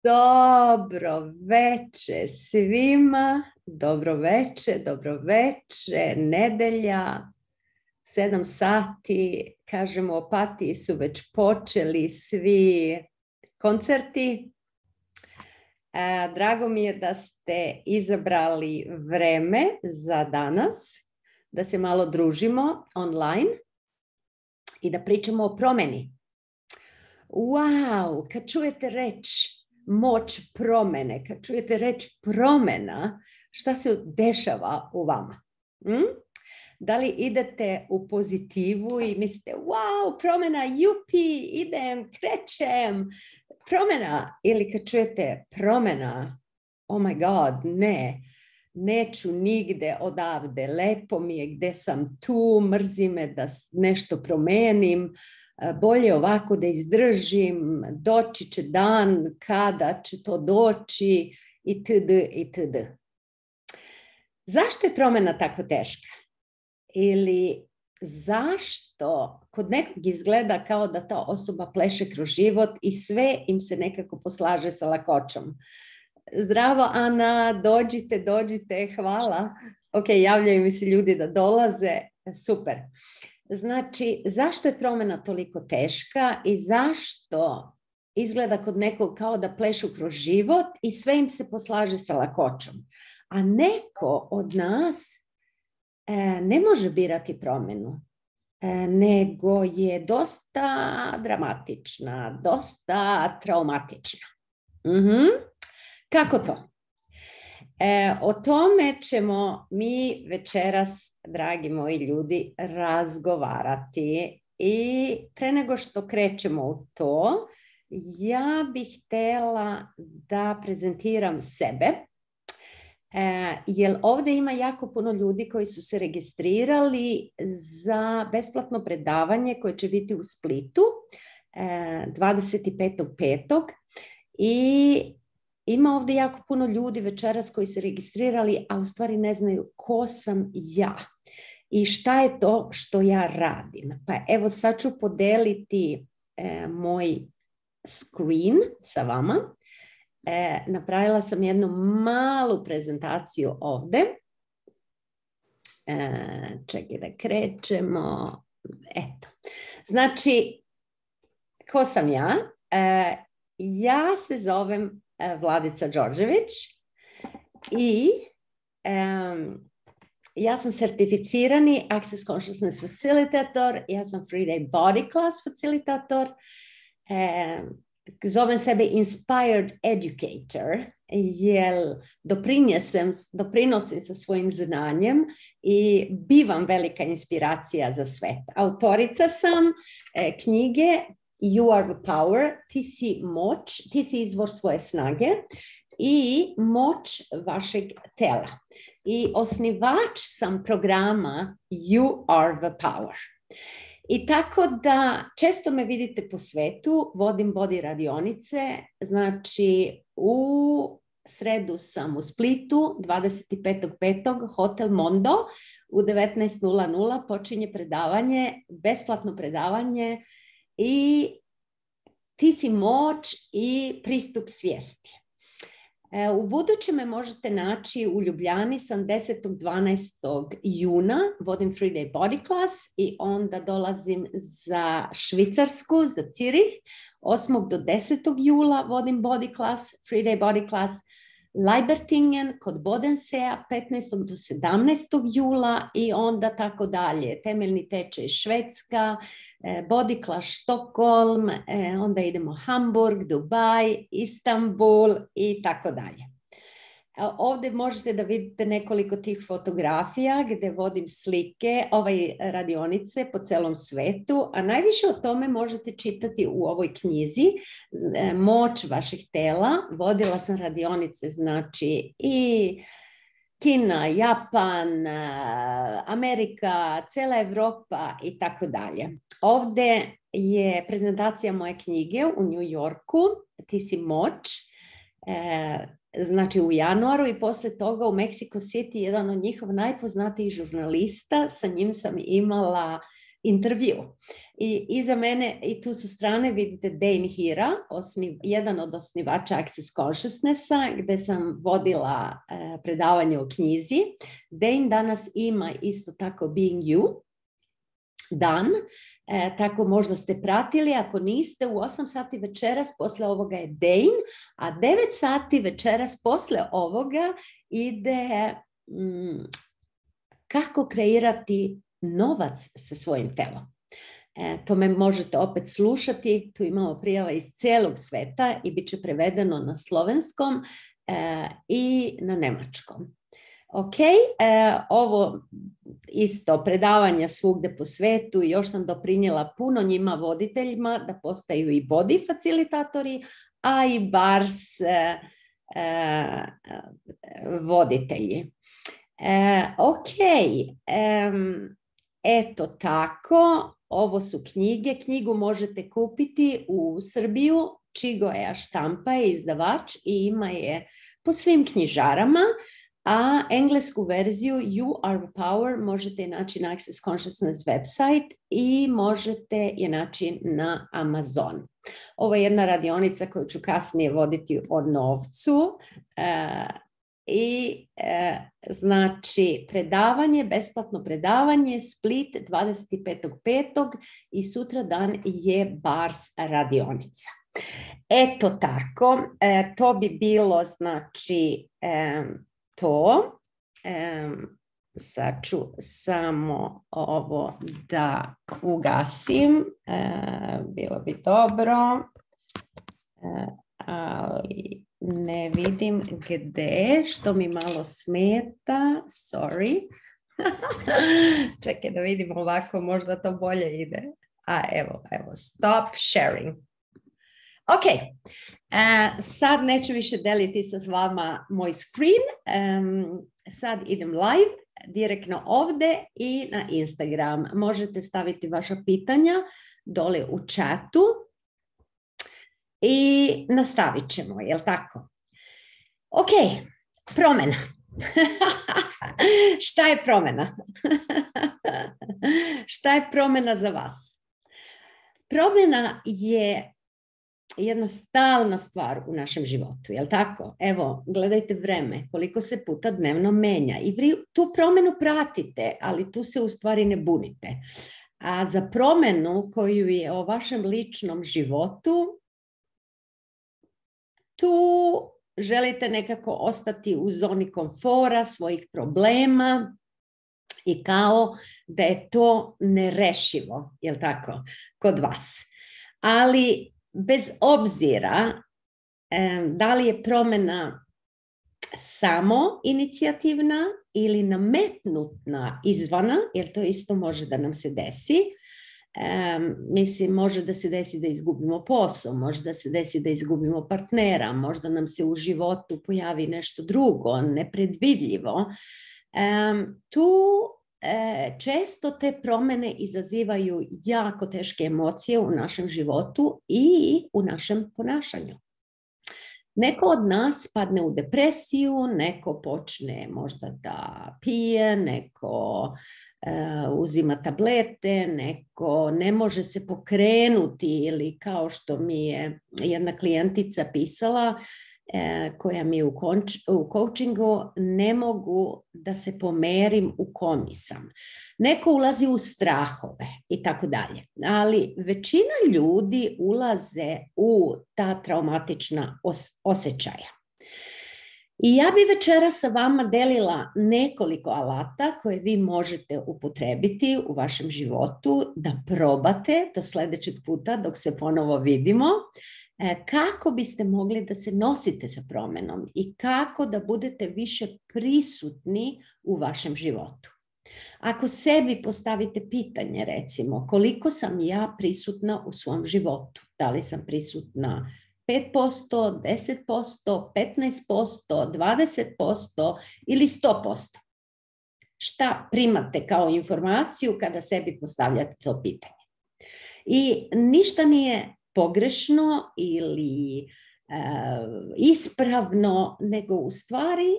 Dobro veče svima, dobro veče, nedelja, 7 sati, kažem u Opatiji su već počeli svi koncerti. Drago mi je da ste izabrali vreme za danas, da se malo družimo online i da pričamo o promeni. Wow, kad čujete reč moć promene, kad čujete reč promena, šta se dešava u vama? Da li idete u pozitivu i mislite, wow, promena, jupi, idem, krećem, promena. Ili kad čujete promena, oh my god, ne, neću nigde odavde, lepo mi je gde sam tu, mrzi me da nešto promenim, bolje ovako da izdržim, doći će dan kada će to doći itd. itd. Zašto je promena tako teška? Ili zašto kod nekog izgleda kao da ta osoba pleše kroz život i sve im se nekako poslaže sa lakoćom? Zdravo Ana, dođite, hvala. Ok, javljaju mi se ljudi da dolaze, super. Znači, zašto je promjena toliko teška i zašto izgleda kod nekog kao da plešu kroz život i sve im se poslaže sa lakoćom? A neko od nas ne može birati promjenu, nego je dosta dramatična, dosta traumatična. Kako to? O tome ćemo mi večeras, dragi moji ljudi, razgovarati. I pre nego što krećemo u to, ja bih htjela da prezentiram sebe. Jer ovdje ima jako puno ljudi koji su se registrirali za besplatno predavanje koje će biti u Splitu 25.5. I ima ovdje jako puno ljudi večeras koji se registrirali, a u stvari ne znaju ko sam ja i šta je to što ja radim. Pa evo sad ću podeliti moj screen sa vama. Napravila sam jednu malu prezentaciju ovdje. Čekaj da krećemo. Eto. Znači, ko sam ja? Ja se zovem Vladica Đorđević i ja sam certificirani Access Consciousness Facilitator, ja sam Free Day Body Class Facilitator, zovem sebe Inspired Educator, jer doprinosim sa svojim znanjem i bivam velika inspiracija za svet. Autorica sam knjige You are the power, ti si moć, ti si izvor svoje snage i moć vašeg tela. I osnivač sam programa You are the power. I tako da često me vidite po svetu, vodim body radionice, znači u sredu sam u Splitu, 25.5. Hotel Mondo, u 19.00 počinje predavanje, besplatno predavanje i ti si moć i pristup svijesti. U buduće me možete naći u Ljubljani, sam 10.12. juna, vodim Free Day Body Class i onda dolazim za Švicarsku, za Cirih, 8. do 10. jula vodim Body Class, Free Day Body Class, Leibertingen kod Bodensea 15. do 17. jula i onda tako dalje. Temeljni tečaj Švedska, Body Class Stockholm, onda idemo Hamburg, Dubaj, Istanbul i tako dalje. Ovdje možete da vidite nekoliko tih fotografija gdje vodim slike radionice po celom svetu, a najviše o tome možete čitati u ovoj knjizi Moć vašeg tela. Vodila sam radionice, znači i Kina, Japan, Amerika, cela Evropa i tako dalje. Ovdje je prezentacija moje knjige u New Yorku, Ti si moć, znači u januaru i posle toga u Mexico City jedan od njihov najpoznatijih žurnalista, sa njim sam imala intervju. I iza mene i tu sa strane vidite Dain Heera, jedan od osnivača Access Consciousnessa, gde sam vodila predavanje o knjizi. Dain danas ima isto tako Being You dan, tako možda ste pratili, ako niste, u 8 sati večeras posle ovoga je Dain, a 9 sati večeras posle ovoga ide kako kreirati novac sa svojim telom. To me možete opet slušati, tu imamo prijava iz cijelog sveta i bit će prevedeno na slovenskom i na nemačkom. Ok, ovo isto predavanja svugde po svetu, još sam doprinijela puno njima voditeljima da postaju i body facilitatori, a i bars voditelji. Ok, eto tako, ovo su knjige. Knjigu možete kupiti u Srbiju, Čigoja štampa je izdavač i ima je po svim knjižarama, a englesku verziju You Are the Power možete naći na Access Consciousness website i možete je naći na Amazon. Ovo je jedna radionica koju ću kasnije voditi o novcu. Znači predavanje, besplatno predavanje, Split 25.5. i sutra dan je Bars radionica. Eto tako, to bi bilo znači to. Sad ću samo ovo da ugasim, bilo bi dobro, ali ne vidim gde, što mi malo smeta, sorry. Čekaj da vidim ovako, možda to bolje ide. Evo, stop sharing. Ok, sad neću više deliti sa vama moj screen, sad idem live, direktno ovde i na Instagram. Možete staviti vaša pitanja dole u chatu i nastavit ćemo, jel tako? Ok, promjena. Šta je promjena? Šta je promjena za vas? Promjena je jedna stalna stvar u našem životu, jel tako? Evo, gledajte vreme, koliko se puta dnevno menja i vi tu promjenu pratite, ali tu se u stvari ne bunite. A za promjenu koju je o vašem ličnom životu, tu želite nekako ostati u zoni komfora, svojih problema i kao da je to nerešivo, jel tako, kod vas. Ali bez obzira da li je promjena samo inicijativna ili nametnutna izvana, jer to isto može da nam se desi. Mislim, može da se desi da izgubimo posao, može da se desi da izgubimo partnera, možda nam se u životu pojavi nešto drugo, nepredvidljivo. Tu često te promjene izazivaju jako teške emocije u našem životu i u našem ponašanju. Neko od nas padne u depresiju, neko počne možda da pije, neko uzima tablete, neko ne može se pokrenuti ili kao što mi je jedna klijentica pisala, koja mi je u coachingu, ne mogu da se pomerim u komi sam. Neko ulazi u strahove i tako dalje. Ali većina ljudi ulaze u ta traumatična osjećaja. I ja bi večeras sa vama delila nekoliko alata koje vi možete upotrebiti u vašem životu da probate do sljedećeg puta dok se ponovo vidimo. Kako biste mogli da se nosite sa promjenom i kako da budete više prisutni u vašem životu. Ako sebi postavite pitanje, recimo, koliko sam ja prisutna u svom životu? Da li sam prisutna 5%, 10%, 15%, 20% ili 100%? Šta primate kao informaciju kada sebi postavljate to pitanje? I ništa nije pogrešno ili ispravno, nego u stvari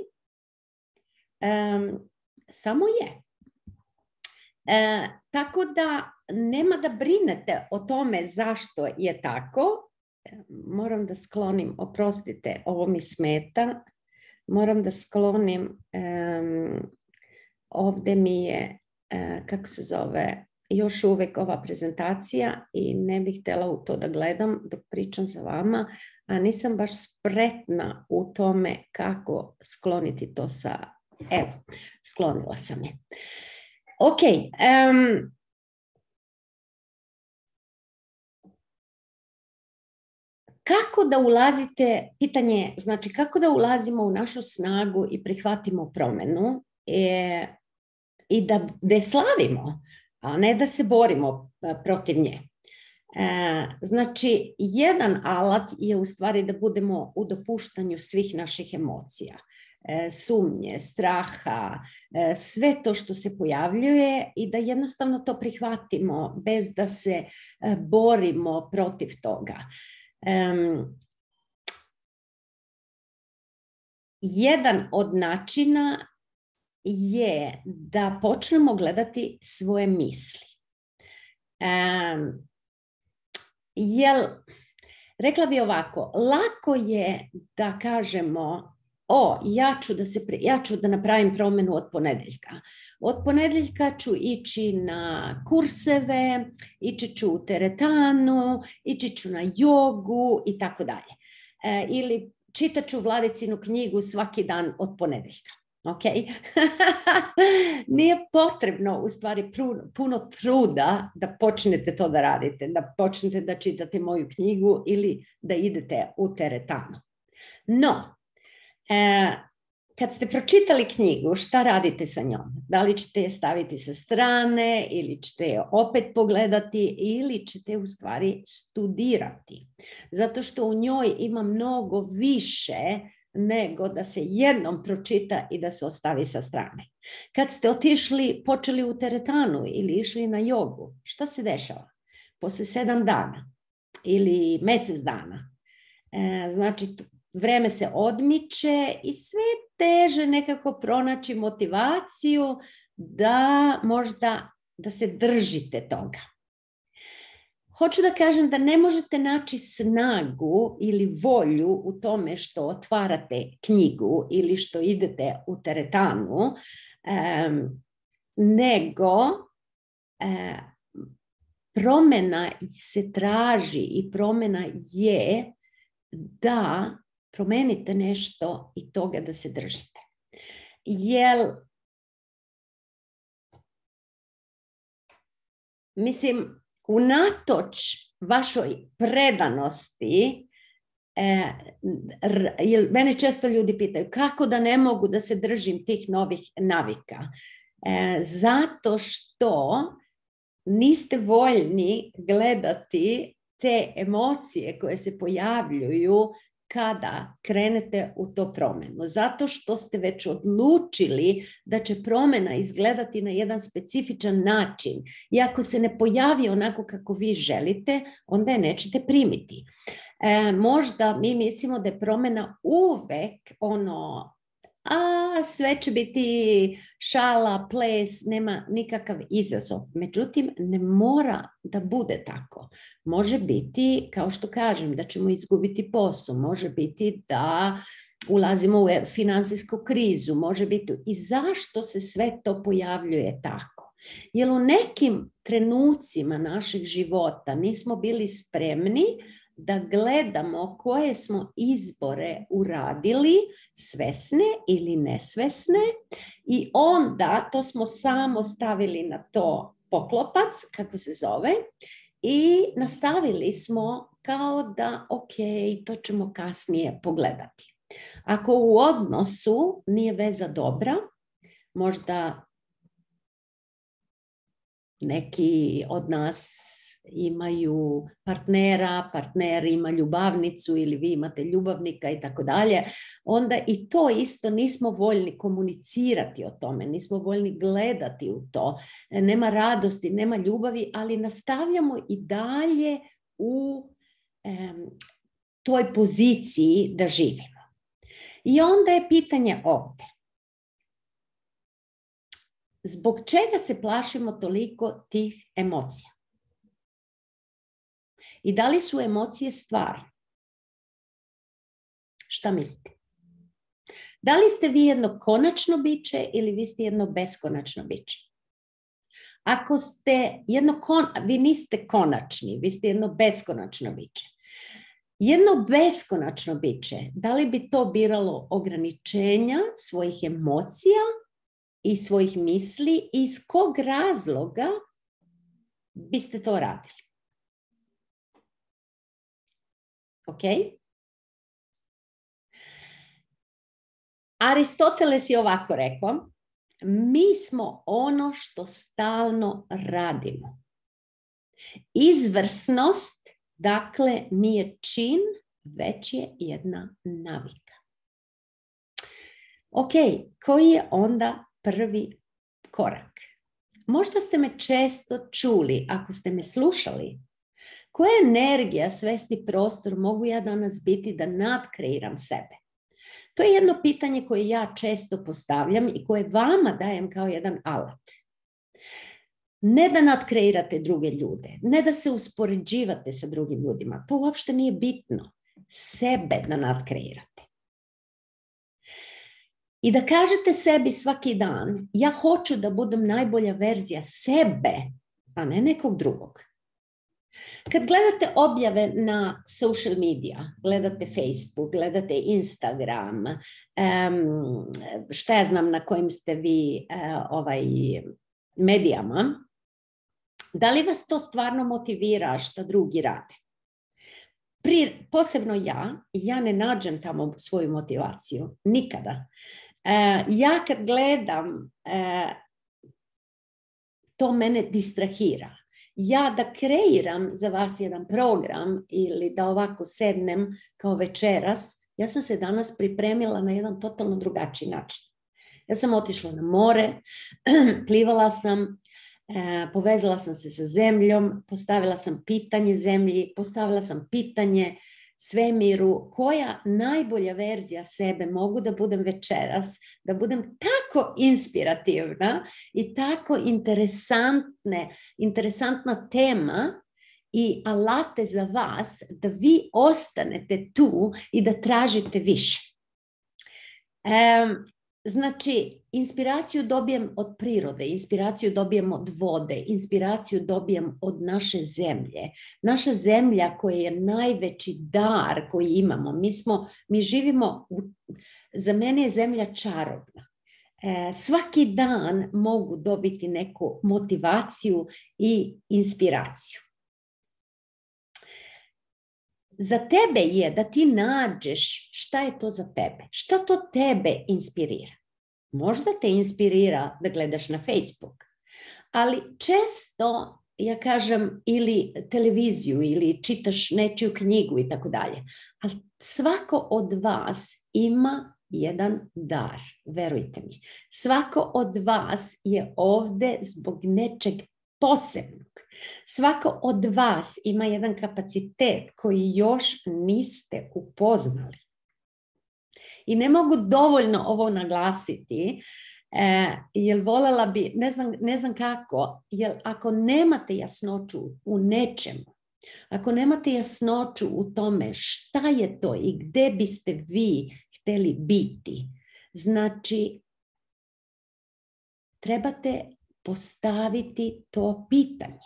samo je. Tako da nema da brinete o tome zašto je tako. Moram da sklonim, oprostite, ovo mi smeta. Moram da sklonim, ovde mi je, kako se zove, još uvek ova prezentacija i ne bih htjela u to da gledam dok pričam sa vama, a nisam baš spretna u tome kako skloniti to sa... Evo, sklonila sam je. Ok. Kako da ulazite, pitanje, znači kako da ulazimo u našu snagu i prihvatimo promenu i da je slavimo, a ne da se borimo protiv nje. Znači, jedan alat je u stvari da budemo u dopuštanju svih naših emocija, sumnje, straha, sve to što se pojavljuje i da jednostavno to prihvatimo bez da se borimo protiv toga. Jedan od načina je da počnemo gledati svoje misli. Rekla bi ovako, lako je da kažemo ja ću da napravim promenu od ponedeljka. Od ponedeljka ću ići na kurseve, ići ću u teretanu, ići ću na jogu i tako dalje. Ili čitat ću Vladicinu knjigu svaki dan od ponedeljka. Ok? Nije potrebno u stvari puno truda da počnete to da radite, da počnete da čitate moju knjigu ili da idete u teretanu. No, kad ste pročitali knjigu, šta radite sa njom? Da li ćete je staviti sa strane ili ćete je opet pogledati ili ćete u stvari studirati? Zato što u njoj ima mnogo više nego da se jednom pročita i da se ostavi sa strane. Kad ste počeli u teretanu ili išli na jogu, šta se dešava? Posle 7 dana ili mjesec dana. Znači, vreme se odmiče i sve teže nekako pronaći motivaciju da možda da se držite toga. Hoću da kažem da ne možete naći snagu ili volju u tome što otvarate knjigu ili što idete u teretanu, nego promjena se traži i promjena je da promenite nešto i toga da se držite. Mislim, unatoč vašoj predanosti, mene često ljudi pitaju kako da ne mogu da se držim tih novih navika. Zato što niste voljni gledati te emocije koje se pojavljuju kada krenete u to promjenu. Zato što ste već odlučili da će promjena izgledati na jedan specifičan način. I ako se ne pojavi onako kako vi želite, onda je nećete primiti. Možda mi mislimo da je promjena uvek sve će biti šala, ples, nema nikakav izazov. Međutim, ne mora da bude tako. Može biti, kao što kažem, da ćemo izgubiti posao. Može biti da ulazimo u finansijsku krizu. Može biti. I zašto se sve to pojavljuje tako? Jer u nekim trenucima našeg života nismo bili spremni da gledamo koje smo izbore uradili, svesne ili nesvesne, i onda to smo samo stavili na to poklopac, kako se zove, i nastavili smo kao da to ćemo kasnije pogledati. Ako u odnosu nije veza dobra, možda neki od nas imaju partnera, partner ima ljubavnicu ili vi imate ljubavnika i tako dalje, onda i to isto nismo voljni komunicirati o tome, nismo voljni gledati u to, nema radosti, nema ljubavi, ali nastavljamo i dalje u toj poziciji da živimo. I onda je pitanje ovdje. Zbog čega se plašimo toliko tih emocija? I da li su emocije stvar? Šta mislite? Da li ste vi jedno konačno biće ili vi ste jedno beskonačno biće? Ako ste vi niste konačni, vi ste jedno beskonačno biće. Jedno beskonačno biće, da li bi to biralo ograničenja svojih emocija i svojih misli i iz kog razloga biste to radili? Ok? Aristoteles je ovako rekao, mi smo ono što stalno radimo. Izvrsnost, dakle, nije čin, već je jedna navika. Ok, koji je onda prvi korak? Možda ste me često čuli, ako ste me slušali, koja energija, svesti prostor mogu ja danas biti da nadkreiram sebe? To je jedno pitanje koje ja često postavljam i koje vama dajem kao jedan alat. Ne da nadkreirate druge ljude, ne da se uspoređivate sa drugim ljudima, to uopšte nije bitno. Sebe da nadkreirate. I da kažete sebi svaki dan, ja hoću da budem najbolja verzija sebe, a ne nekog drugog. Kad gledate objave na social media, gledate Facebook, gledate Instagram, šta ja znam na kojim ste vi medijama, da li vas to stvarno motivira šta drugi rade? Posebno ja ne nađem tamo svoju motivaciju, nikada. Ja kad gledam, to mene distrahira. Ja da kreiram za vas jedan program ili da ovako sednem kao večeras, ja sam se danas pripremila na jedan totalno drugačiji način. Ja sam otišla na more, plivala sam, povezala sam se sa zemljom, postavila sam pitanje zemlji, postavila sam pitanje svemiru, koja najbolja verzija sebe mogu da budem večeras, da budem tako inspirativna i tako interesantna tema i alate za vas da vi ostanete tu i da tražite više. Znači, inspiraciju dobijem od prirode, inspiraciju dobijem od vode, inspiraciju dobijem od naše zemlje. Naša zemlja koja je najveći dar koji imamo. Mi živimo, za mene je zemlja čarobna. Svaki dan mogu dobiti neku motivaciju i inspiraciju. Za tebe je da ti nađeš šta je to za tebe, šta to tebe inspirira. Možda te inspirira da gledaš na Facebook, ali često, ja kažem, ili televiziju ili čitaš nečiju knjigu i tako dalje. Ali svako od vas ima jedan dar, verujte mi. Svako od vas je ovde zbog nečeg posebnog. Svako od vas ima jedan kapacitet koji još niste upoznali. I ne mogu dovoljno ovo naglasiti, jer voljela bi, ne znam kako, jer ako nemate jasnoću u nečemu, ako nemate jasnoću u tome šta je to i gde biste vi hteli biti, znači trebate postaviti to pitanje.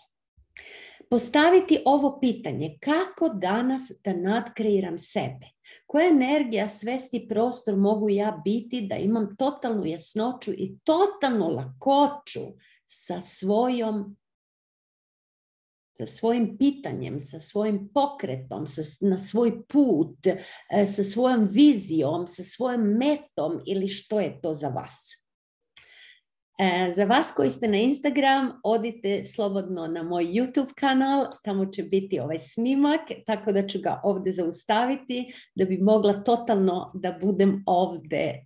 Postaviti ovo pitanje, kako danas da nadkreiram sebe? Koja energija, svesti prostor mogu ja biti da imam totalnu jasnoću i totalnu lakoću sa svojim pitanjem, sa svojim pokretom, na svoj put, sa svojom vizijom, sa svojom metom ili što je to za vas? Za vas koji ste na Instagram, odite slobodno na moj YouTube kanal, tamo će biti ovaj snimak, tako da ću ga ovdje zaustaviti, da bi mogla totalno da budem ovdje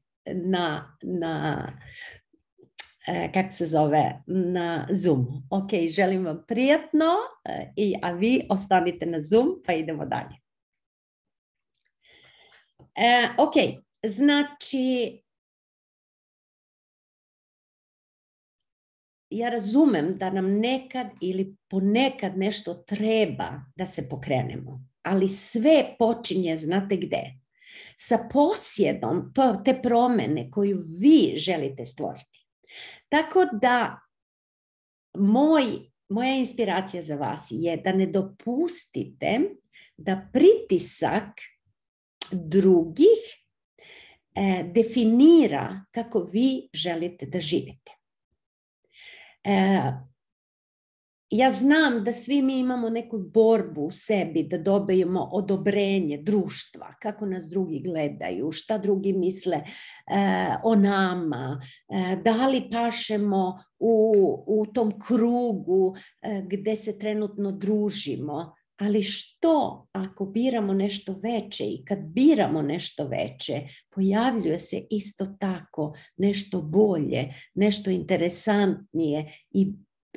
kako se zove, na Zoomu. Ok, želim vam prijatno, a vi ostanite na Zoom, pa idemo dalje. Ok, znači, ja razumem da nam nekad ili ponekad nešto treba da se pokrenemo, ali sve počinje, znate gde? Sa posjedom te promene koju vi želite stvoriti. Tako da moja inspiracija za vas je da ne dopustite da pritisak drugih definira kako vi želite da živite. Ja znam da svi mi imamo neku borbu u sebi da dobijemo odobrenje društva, kako nas drugi gledaju, šta drugi misle o nama, da li pašemo u tom krugu gde se trenutno družimo. Ali što ako biramo nešto veće i kad biramo nešto veće, pojavljuje se isto tako nešto bolje, nešto interesantnije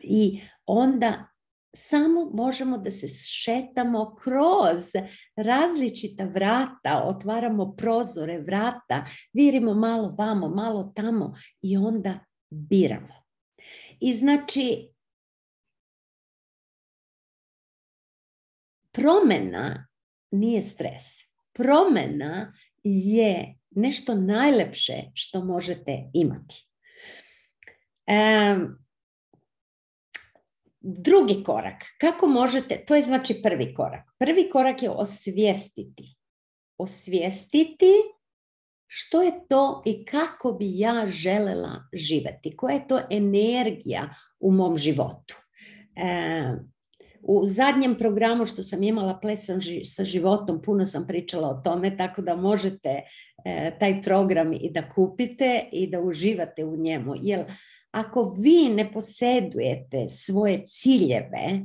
i onda samo možemo da se šetamo kroz različita vrata, otvaramo prozore, vrata, virimo malo vamo, malo tamo i onda biramo. I znači, promena nije stres. Promena je nešto najlepše što možete imati. Drugi korak, kako možete, to je znači prvi korak. Prvi korak je osvijestiti. Osvijestiti što je to i kako bi ja želela živjeti. Koja je to energija u mom životu. U zadnjem programu što sam imala Plesam sa životom, puno sam pričala o tome, tako da možete taj program i da kupite i da uživate u njemu. Jer ako vi ne posjedujete svoje ciljeve,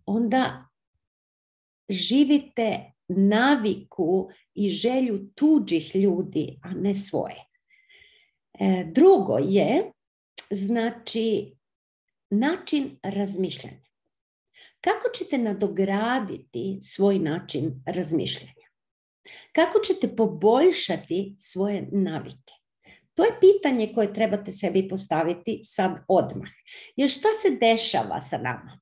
onda živite naviku i želju tuđih ljudi, a ne svoje. Drugo je, znači, način razmišljanja. Kako ćete nadograditi svoj način razmišljanja? Kako ćete poboljšati svoje navike? To je pitanje koje trebate sebi postaviti sad odmah. Jer šta se dešava sa nama?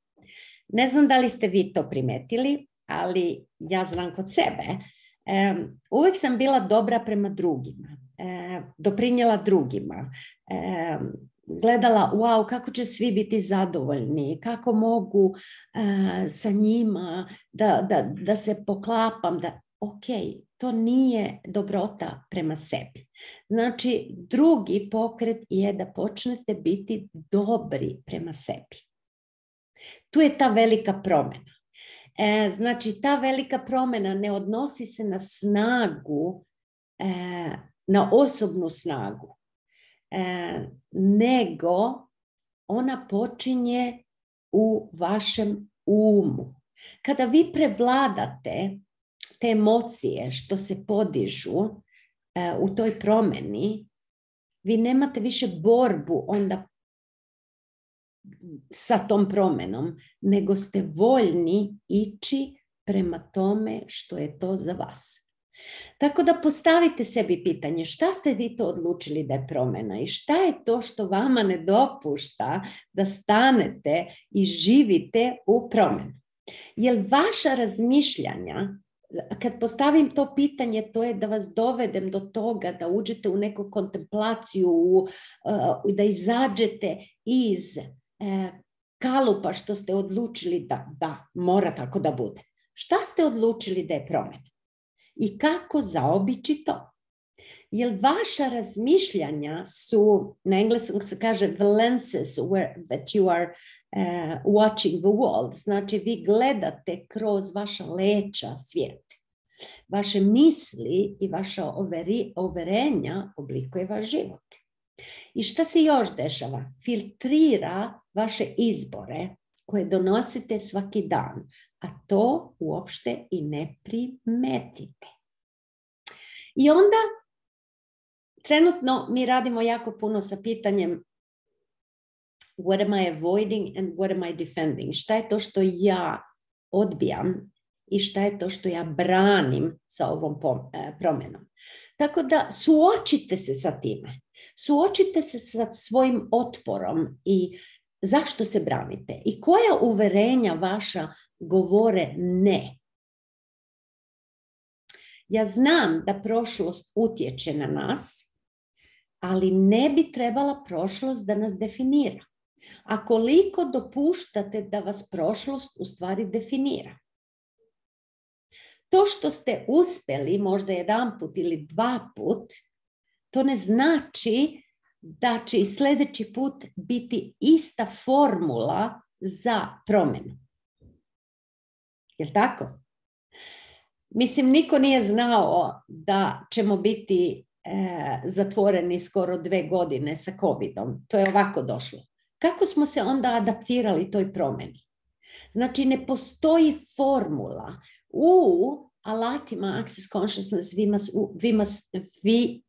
Ne znam da li ste vi to primetili, ali ja znam kod sebe. Uvijek sam bila dobra prema drugima, doprinijela drugima, gledala, wow, kako će svi biti zadovoljni, kako mogu sa njima da se poklapam, ok, to nije dobrota prema sebi. Znači, drugi pokret je da počnete biti dobri prema sebi. Tu je ta velika promjena. Znači, ta velika promjena ne odnosi se na snagu, na osobnu snagu, nego ona počinje u vašem umu. Kada vi prevladate te emocije što se podižu u toj promjeni, vi nemate više borbu onda sa tom promjenom, nego ste voljni ići prema tome što je to za vas. Tako da postavite sebi pitanje šta ste vi to odlučili da je promjena i šta je to što vama ne dopušta da stanete i živite u promjenu. Jer vaša razmišljanja, kad postavim to pitanje, to je da vas dovedem do toga da uđete u neku kontemplaciju, da izađete iz kalupa što ste odlučili da mora tako da bude. Šta ste odlučili da je promjena? I kako zaobići to? Jer vaša razmišljanja su, na engleskom se kaže the lenses that you are watching the world. Znači vi gledate kroz vaša leća svijet. Vaše misli i vaša overenja oblikuje vaš život. I šta se još dešava? Filtrira vaše izbore koje donosite svaki dan, a to uopšte i ne primetite. I onda trenutno mi radimo jako puno sa pitanjem what am I avoiding and what am I defending? Šta je to što ja odbijam i šta je to što ja branim sa ovom promjenom? Tako da suočite se sa time. Suočite se sa svojim otporom i zašto se branite i koja uverenja vaša govore ne. Ja znam da prošlost utječe na nas, ali ne bi trebala prošlost da nas definira. A koliko dopuštate da vas prošlost u stvari definira? To što ste uspjeli možda jedan put ili dva put, to ne znači da će i sljedeći put biti ista formula za promjenu. Jel' tako? Mislim, niko nije znao da ćemo biti zatvoreni skoro 2 godine sa COVID-om. To je ovako došlo. Kako smo se onda adaptirali toj promjeni? Znači, ne postoji formula. U alatima Access Consciousness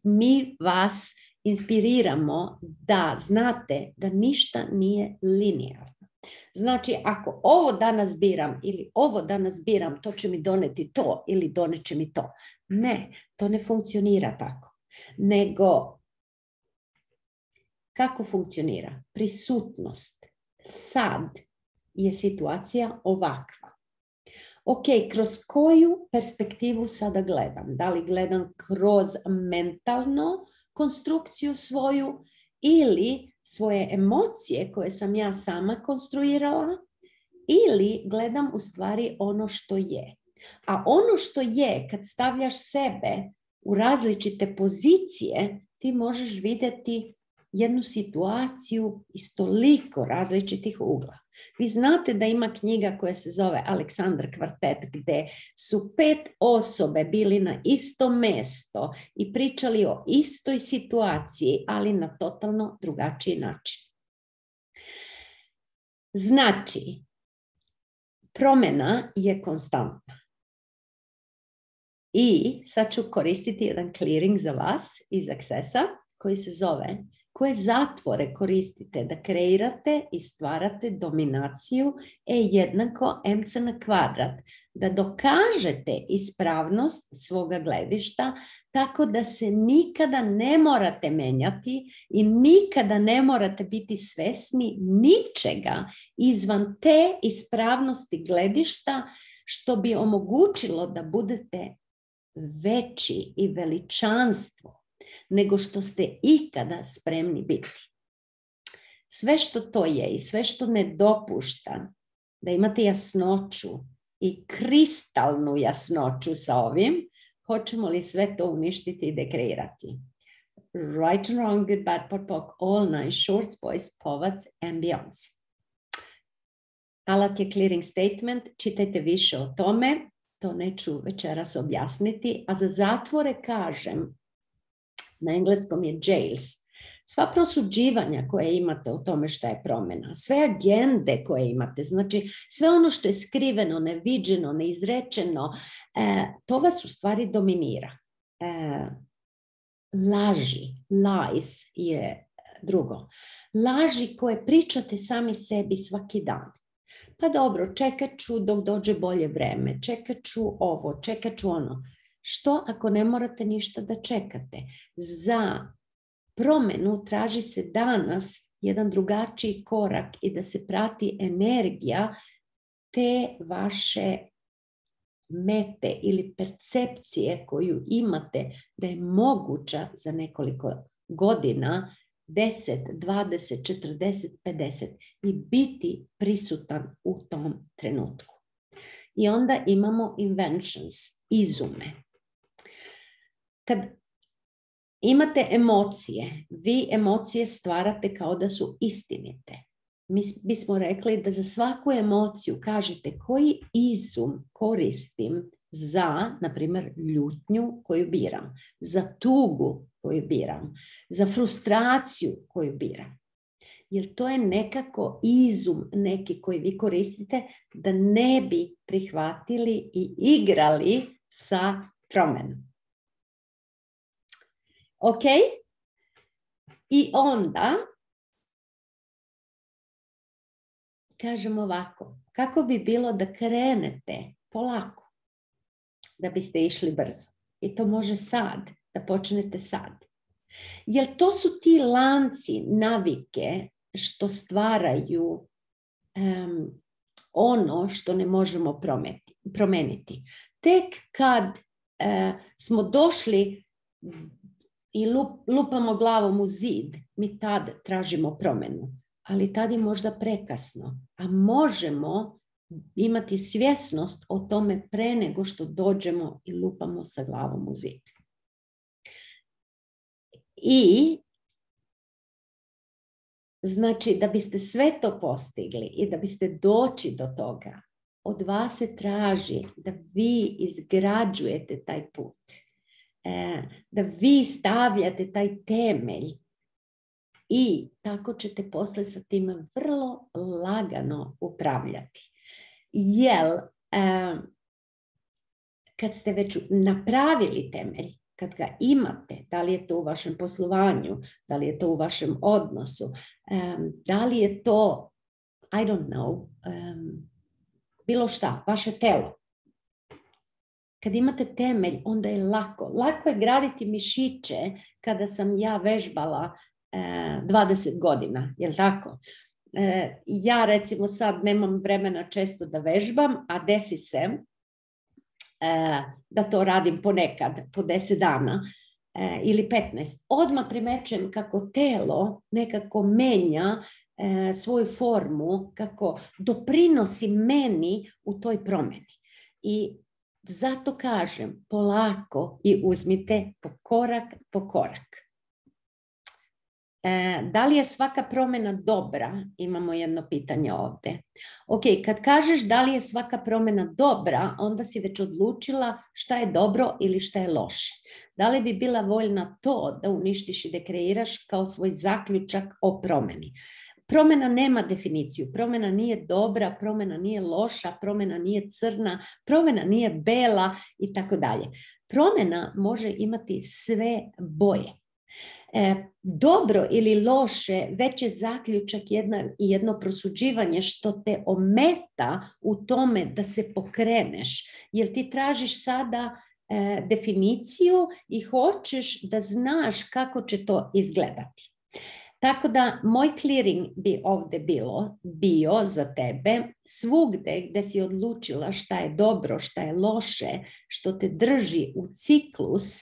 mi vas inspiriramo da znate da ništa nije linearno. Znači, ako ovo danas biram ili ovo danas biram, to će mi doneti to ili doneće mi to. Ne, to ne funkcionira tako. Nego, kako funkcionira? Prisutnost. Sad je situacija ovakva. Ok, kroz koju perspektivu sada gledam? Da li gledam kroz mentalnu konstrukciju svoju ili svoje emocije koje sam ja sama konstruirala ili gledam u stvari ono što je. A ono što je, kad stavljaš sebe u različite pozicije, ti možeš vidjeti jednu situaciju iz toliko različitih ugla. Vi znate da ima knjiga koja se zove Aleksandar kvartet, gdje su 5 osobe bili na isto mjesto i pričali o istoj situaciji, ali na totalno drugačiji način. Znači, promjena je konstantna. I sad ću koristiti jedan clearing za vas iz Accessa koji se zove koje zatvore koristite da kreirate i stvarate dominaciju E=mc na kvadrat, da dokažete ispravnost svoga gledišta tako da se nikada ne morate menjati i nikada ne morate biti svjesni ničega izvan te ispravnosti gledišta što bi omogućilo da budete veći i veličanstvo nego što ste ikada spremni biti. Sve što to je i sve što ne dopušta da imate jasnoću i kristalnu jasnoću sa ovim, hoćemo li sve to uništiti i dekreirati? Right and wrong, good, bad, pot, pok, all nine, shorts, boys, povac and beyonds. Alat je clearing statement, čitajte više o tome, to neću večeras objasniti, a za zatvore kažem, na engleskom je jails. Sva prosuđivanja koje imate o tome šta je promjena, sve agende koje imate, znači sve ono što je skriveno, neviđeno, neizrečeno, to vas u stvari dominira. Laži, lies je drugo. Laži koje pričate sami sebi svaki dan. Pa dobro, čekat ću dok dođe bolje vreme, čekat ću ovo, čekat ću ono. Što ako ne morate ništa da čekate? Za promjenu traži se danas jedan drugačiji korak i da se prati energija te vaše mete ili percepcije koju imate da je moguća za nekoliko godina, 10, 20, 40, 50 i biti prisutan u tom trenutku. I onda imamo inventions, izume. Kad imate emocije, vi emocije stvarate kao da su istinite. Mi bismo rekli da za svaku emociju kažete koji izum koristim za, na primjer, ljutnju koju biram, za tugu koju biram, za frustraciju koju biram. Jer to je nekako izum neki koji vi koristite da ne bi prihvatili i igrali sa promjenom. Ok? I onda kažem ovako, kako bi bilo da krenete polako, da biste išli brzo. I to može sad, da počnete sad. Jer to su ti lanci navike što stvaraju ono što ne možemo promeniti. Tek kad smo došli i lupamo glavom u zid, mi tad tražimo promjenu. Ali tad je možda prekasno. A možemo imati svjesnost o tome pre nego što dođemo i lupamo sa glavom u zid. I znači da biste sve to postigli i da biste doći do toga, od vas se traži da vi izgrađujete taj put. Da vi stavljate taj temelj i tako ćete posle sa tim vrlo lagano upravljati. Jer kad ste već napravili temelj, kad ga imate, da li je to u vašem poslovanju, da li je to u vašem odnosu, da li je to, I don't know, bilo šta, vaše telo. Kad imate temelj, onda je lako. Lako je graditi mišiće kada sam ja vežbala 20 godina, jel tako? Ja recimo sad nemam vremena često da vežbam, a desi se da to radim ponekad, po 10 dana ili 15. Odmah primećujem kako telo nekako menja svoju formu, kako doprinosi meni u toj promjeni. I zato kažem, polako i uzmite korak po korak. Da li je svaka promjena dobra? Imamo jedno pitanje ovdje. Ok, kad kažeš da li je svaka promjena dobra, onda si već odlučila šta je dobro ili šta je loše. Da li bi bila voljna to da uništiš i dekreiraš kao svoj zaključak o promjeni? Promjena nema definiciju. Promjena nije dobra, promjena nije loša, promjena nije crna, promjena nije bela i tako dalje. Promjena može imati sve boje. Dobro ili loše, već je zaključak jedno prosuđivanje što te ometa u tome da se pokreneš. Jer ti tražiš sada definiciju i hoćeš da znaš kako će to izgledati. Tako da moj clearing bi ovdje bio za tebe svugde gdje si odlučila šta je dobro, šta je loše, što te drži u ciklus,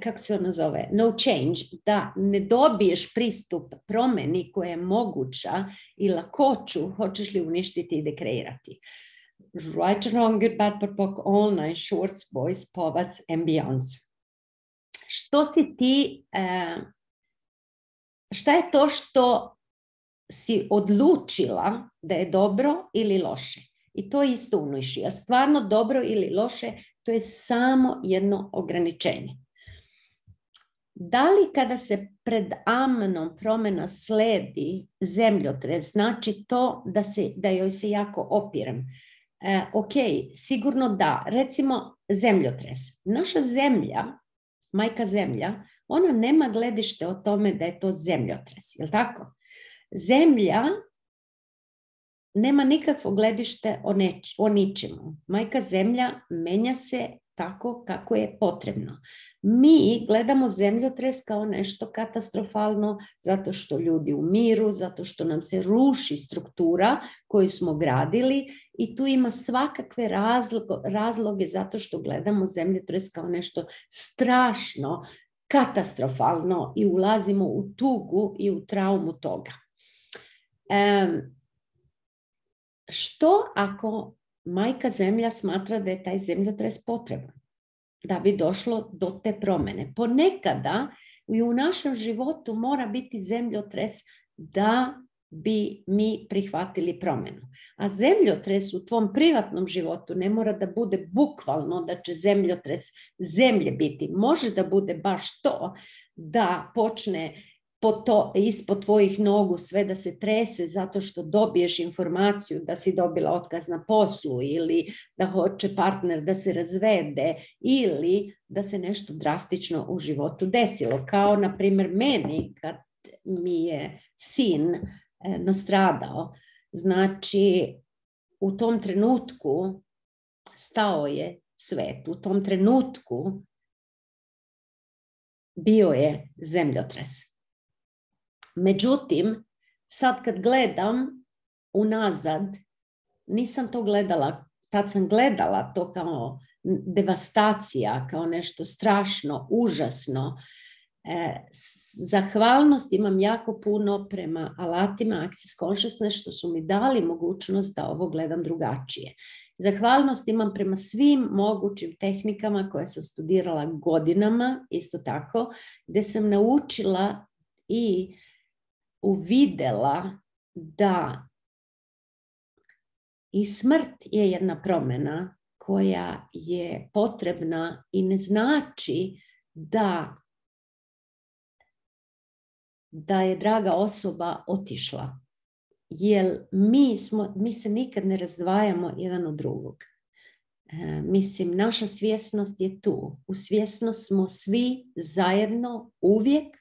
kako se ono zove, no change, da ne dobiješ pristup promjeni koja je moguća i lakoću, hoćeš li uništiti i dekreirati. Right and wrong, good, bad, but book, all night, shorts, boys, povats and beyonds. Što si ti, šta je to što si odlučila da je dobro ili loše? I to isto uniši. A stvarno dobro ili loše, to je samo jedno ograničenje. Da li kada se pred amenom promjena sledi zemljotres, znači to da joj se jako opirem? Ok, sigurno da. Recimo zemljotres. Naša zemlja, majka zemlja, ona nema gledište o tome da je to zemljotres, je li tako? Zemlja nema nikakvo gledište o ničemu. Majka zemlja menja se tako kako je potrebno. Mi gledamo zemljotres kao nešto katastrofalno zato što ljudi umiru, zato što nam se ruši struktura koju smo gradili i tu ima svakakve razloge zato što gledamo zemljotres kao nešto strašno, katastrofalno i ulazimo u tugu i u traumu toga. Što ako majka zemlja smatra da je taj zemljotres potreban da bi došlo do te promjene? Ponekada i u našem životu mora biti zemljotres da bi mi prihvatili promjenu. A zemljotres u tvom privatnom životu ne mora da bude bukvalno da će zemljotres zemlje biti. Može da bude baš to da počne ispod tvojih nogu sve da se trese zato što dobiješ informaciju da si dobila otkaz na poslu ili da hoće partner da se razvede ili da se nešto drastično u životu desilo. Kao na primjer meni kad mi je sin nastradao. Znači u tom trenutku stao je svet. U tom trenutku bio je zemljotres. Međutim, sad kad gledam unazad, nisam to gledala, tad sam gledala to kao devastacija, kao nešto strašno, užasno. Zahvalnost imam jako puno prema alatima Access Consciousness što su mi dali mogućnost da ovo gledam drugačije. Zahvalnost imam prema svim mogućim tehnikama koje sam studirala godinama, isto tako, gdje sam naučila i uvidela da i smrt je jedna promjena koja je potrebna i ne znači da je draga osoba otišla. Jer mi se nikad ne razdvajamo jedan od drugog. Mislim, naša svjesnost je tu. U svjesnost smo svi zajedno uvijek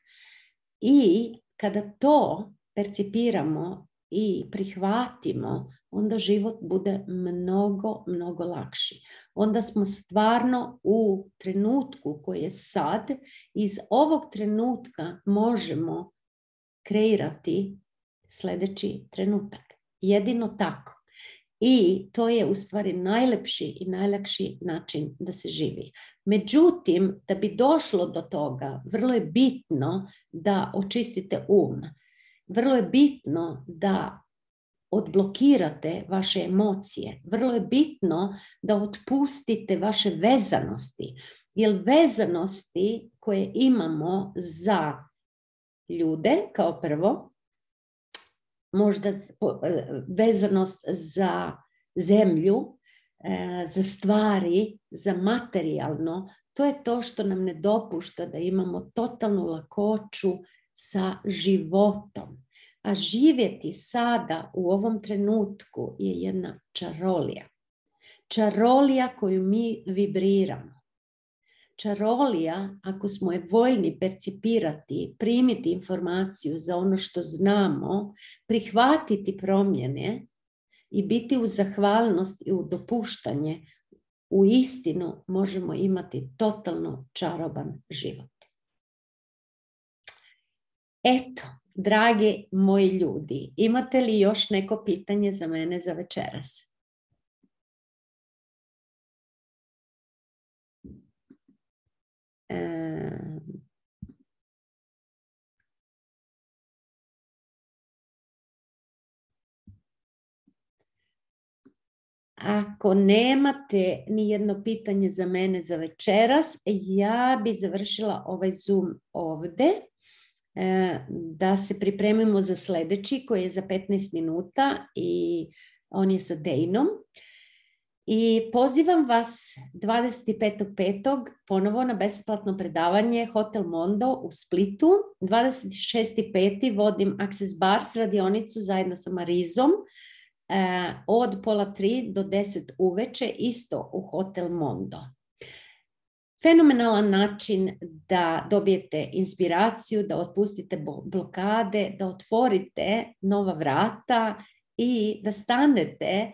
i kada to percipiramo i prihvatimo, onda život bude mnogo, mnogo lakši. Onda smo stvarno u trenutku koji je sad, iz ovog trenutka možemo kreirati sljedeći trenutak. Jedino tako. I to je u stvari najlepši i najlakši način da se živi. Međutim, da bi došlo do toga, vrlo je bitno da očistite um. Vrlo je bitno da odblokirate vaše emocije. Vrlo je bitno da otpustite vaše vezanosti. Jer vezanosti koje imamo za ljude, kao prvo, možda vezanost za zemlju, za stvari, za materijalno, to je to što nam ne dopušta da imamo totalnu lakoću sa životom. A živjeti sada u ovom trenutku je jedna čarolija. Čarolija koju mi vibriramo. Čarolija, ako smo je voljni percipirati, primiti informaciju za ono što znamo, prihvatiti promjene i biti u zahvalnost i u dopuštanje, u istinu možemo imati totalno čaroban život. Eto, dragi moji ljudi, imate li još neko pitanje za mene za večeras? Ako nemate ni jedno pitanje za mene za večeras, ja bi završila ovaj Zoom ovdje. Da se pripremimo za sljedeći koji je za 15 minuta i on je sa Dejnom. I pozivam vas 25.5. ponovo na besplatno predavanje Hotel Mondo u Splitu. 26.5. vodim Access Bars radionicu zajedno sa Marizom od 2:30 do 10 uveče isto u Hotel Mondo. Fenomenalan način da dobijete inspiraciju, da otpustite blokade, da otvorite nova vrata i da stanete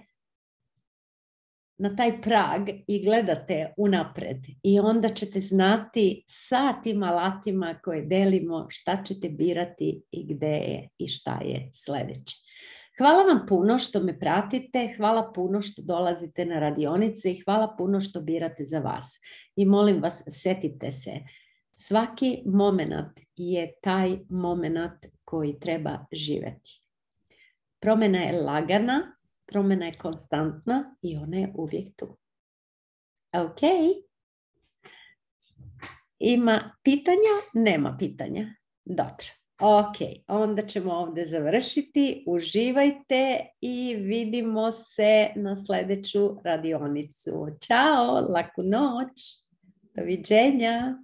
na taj prag i gledate unapred. I onda ćete znati sa tim alatima koje delimo šta ćete birati i gde je i šta je sljedeće. Hvala vam puno što me pratite, hvala puno što dolazite na radionice i hvala puno što birate za vas. I molim vas, setite se, svaki moment je taj moment koji treba živjeti. Promjena je lagana, promjena je konstantna i ona je uvijek tu. Ok. Ima pitanja? Nema pitanja. Dobro. Ok, onda ćemo ovdje završiti. Uživajte i vidimo se na sljedeću radionicu. Ćao, laku noć. Doviđenja.